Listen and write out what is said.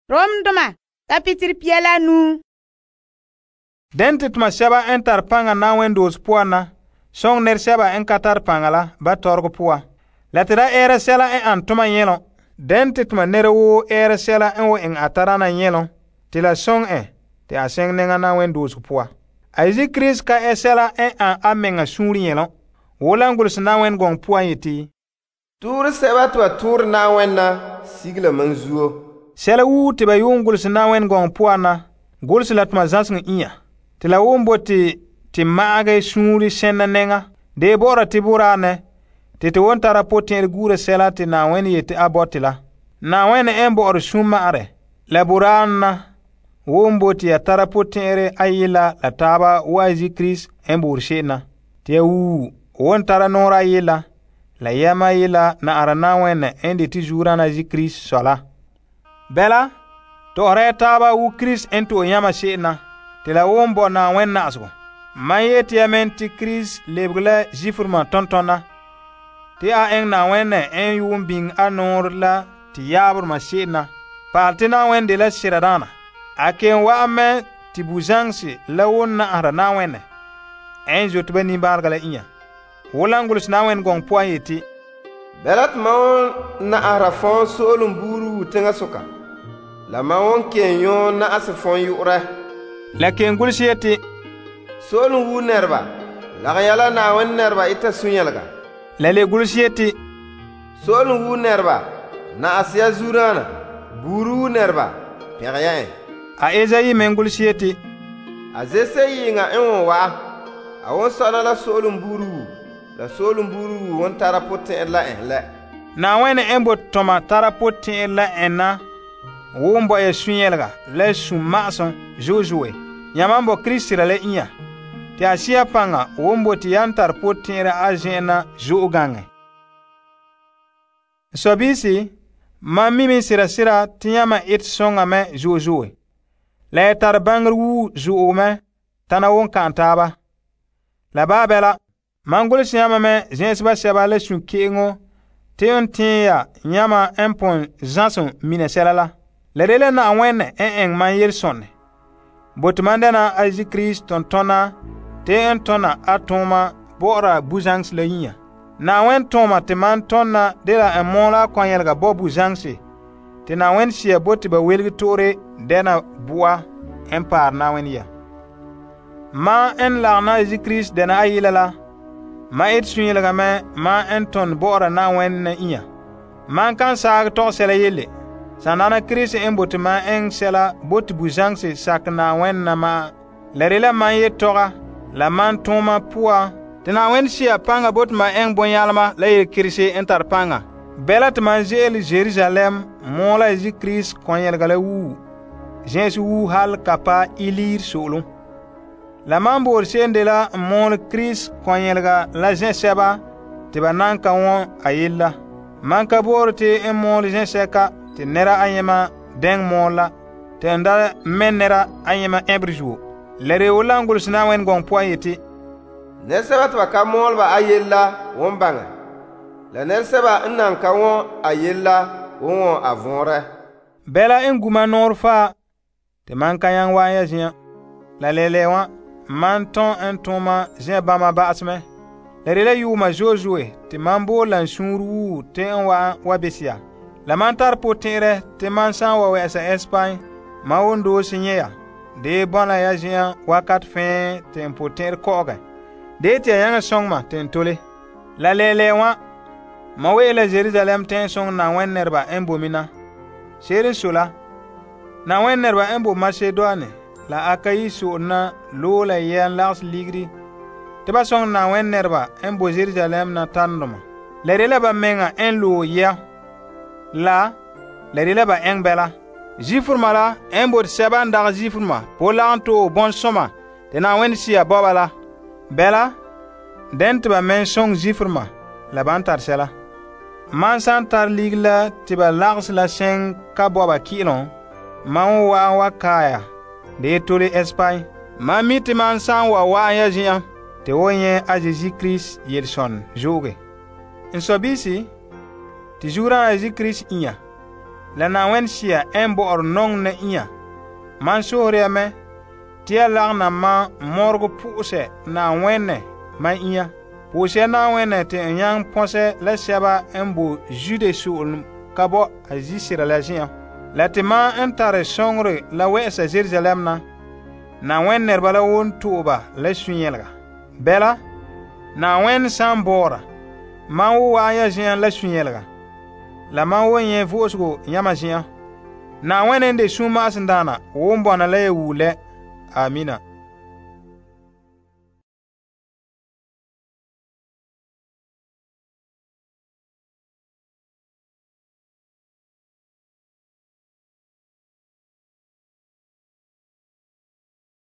Romdoma kapitel 9. Den te tuma sɛba n tare paŋa Na'ayenɛ doose poan na soŋɛ nɛresɛba n ka tare paŋa la ba tɔrɔgɔ poan. La te da ɛɛra sɛla n ane tuma nyɛlom. Den te tuma nɛra woo ɛɛra sɛla n wan eŋɛ a tadaana nyɛlom te la soŋɛ en te a seŋɛ nɛŋa Na'ayenɛ doosego poan. A Yesu Krista ka ɛ sɛla n ane a mɛŋa suunre nyɛlom. Wo la n golehɛ Na'ayenɛ gɔŋɔ poan yeti, tuure sɛba te ba tuure Na'ayenɛ na sige la mam zuo. Sɛla woo te ba yuun golehɛ Na'ayenɛ gɔŋɔ poan na golehɛ la tuma zãseŋɔ inya. Te la won bote te ma'agɛ suunre sɛnna nɛŋa de bɔ'ɔra te boraa ne te won tara potɛn'ɛrɛ guura sɛla te Na'ayenɛ yete a bɔte la. Na'ayenɛ n bɔ'ɔre sunma'arɛ la boraa na won bote ya tara potɛn'ɛrɛ ayela la taaba wa Yesu Krista n boore se'em na. Te ya won tara nɔɔrɛ ayela la yɛma ayela na'ara Na'ayenɛ n de te zuurana Yesu Krista sɔ la. Bɛla, tɔ'ɔra ya taaba wo Krista n to'e yãma se'em na. Te la won bo Na'ayenɛ na'asegɔ. Man yeti ya men te Krista lebege la Zifrema tontona te a eŋɛ Na'ayenɛ n yuun biŋe a nɔɔrɛ la te yaaberema se'em na. Paal te Na'ayenɛ de la siradaana. A ken wa'an mɛ te buzaŋse la won na'ahera Na'ayenɛ n zote ba nimbaalega la inya. Wola n golehɛ Na'ayenɛ gɔŋɔ poan yeti, Bɛla te mam won na'ahera fɔɔn so'olem buuru teŋasoka. La mam won ken yɔɔ na'ase fɔɔn yu'urɛ. La ken golehɛ yeti, so'olem wu nɛreba, lagɛ ya la Na'ayenɛ nɛreba ita sunyɛlega. La le golehɛ yeti, so'olem wu nɛreba, na'ase ya zuurana, buuru wu nɛreba, pɛgɛ ya en. A Ezayi men golehɛ yeti, a zese yiŋa n won wa'a, a won sɔna la so'olem buuru wu, la so'olem buuru wu won tara potɛn'ɛrɛ la en lɛ. Na'ayenɛ n bo tɔma tara potɛn'ɛrɛ la en na won bo ya sunyɛlega la sum-ma'asem zo'e. Yãma bo Krista la inya. Te a siya paŋa won bo te yan tar potɛn'ɛrɛ a zen'en na zo'e gaŋɛ. Sobisi, mam mimi sira te yãma et sõŋa me zo'e. La ya tar baŋer wuu zo'e me tana won ka'an taaba. La baa bɛla, man golehɛ yãma me zẽ'eseba sɛba la sũ-ke'eŋo te n tẽe ya yãma n pon zãsem mina sɛla la. La de la Na'ayenɛ n eŋɛ man yelesõnɛ. Bote man dɛna a Yesu Krista tontona te n tɔna a tooma bɔ'ɔra buzaŋse la yinya. Na'ayenɛ tooma te man tɔnna de la n mɔɔla a kɔnyɛlega bɔ buzaŋse te Na'ayenɛ sia bote ba welege to'ore dɛna bu'a n paare Na'ayenɛ ya. Ma n lagena Yesu Krista dɛna ayela la, ma et sunyɛlega me ma n tɔn bɔ'ɔra Na'ayenɛ na inya. Man kan saage tɔgɛ sɛla yelle. Sanana Krista n bote ma eŋɛ sɛla bote buzaŋse sakɛ Na'ayenɛ na ma. La de la man yetɔga la man tooma puan te Na'ayenɛ sia paŋa bote ma eŋɛ bɔnyalema la yelkerese n tare paŋa. Bɛla te man ze'ele Jerusalem mɔɔla Yesu Krista kɔnyɛlega la wuu, zẽ'ese wuu hal ka pa iliir so'olem. La man boore se'em de la n mɔɔle Krista kɔnyɛlega la zẽ'sɛba te ba nan ka wɔn a yella. Man ka boore te n mɔɔle zẽ'sɛka te nɛra ayema dɛŋ mɔɔle la te n da mɛ nɛra ayema ɛbere zuo. La de wola n golehɛ Na'ayenɛ gɔŋɔ poan yeti, nɛresɛba te ba ka mɔɔle ba a yella won baŋɛ, la nɛresɛba n nan ka wɔn a yella won wɔn a vɔɔrɛ. Bɛla n guma nɔɔrɛ faa te man ka nyaŋɛ wa'an ya zĩ'an. La lɛlɛ wã man tõn n tooma zẽ bãmba ba'asmɛ. La de la yuuma zo'e te man boole la n suunre wuu te n wa'an wa bese ya. La man tar potɛn'ɛrɛ te man sã n wa wɛ'ɛsa Ɛspain, man won doose nyɛ ya. De bɔna ya zen'an wakat fẽe te n potɛn'ɛrɛ kɔ'ɔgɛ. De te ya yãŋa sõŋ ma te n tole. La lɛɛlɛɛ wã, ma we'e la Jerusalem tẽn sõŋ Na'ayenɛ nɛreba n bo mina. Se'ere n so la, Na'ayenɛ nɛreba n bo Masedoni la Akayi so'ore na loe la yɛn lagesɛ ligiri te ba sõŋ Na'ayenɛ nɛreba n bo Jerusalem na tarendoma. La de la ba meŋa n loe yɛ. La de la ba eŋɛ bɛla. Zifrema la n bote sɛba n dagɛ Zifrema po lagem to'e bõn-sõma te Na'ayenɛ sia bɔba la. Bɛla, dɛn te ba mɛ sõŋ Zifrema la ban tar sɛla. Man san tar ligiri la te ba lagese la sẽn ka bɔba ki'ilem, man won wa'an wa kaaya de tole Ɛspain. Man mi te man san wa wa'an ya zen'an te wo nyɛ a Yesu Krista yelesõn zo'oge. N sobisi, te zuurana Yesu Krista inya, la Na'ayenɛ Sea n bo'ore nɔŋɛ na inya. Man sohore ya mɛ te ya lagana ma mɔregɔ po'osɛ Na'ayenɛ man inya. Po'ose ya Na'ayenɛ te n nyaŋɛ pɔnsɛ la sɛba n bo Zude so'olom ka bo a zisera la zen'an. La te ma n tare sɔŋerɛ la wɛ'ɛsa Jerusalem na, Na'ayenɛ nɛreba la won to'e ba la sunyɛlega. Bɛla, Na'ayenɛ san bɔɔra, man wo wa'an ya zen'an la sunyɛlega, la man wo nyɛ vo'osego yãma zen'an. Na'ayenɛ n de sunma'asendaana won bɔna la ya wuo lɛ. Amina.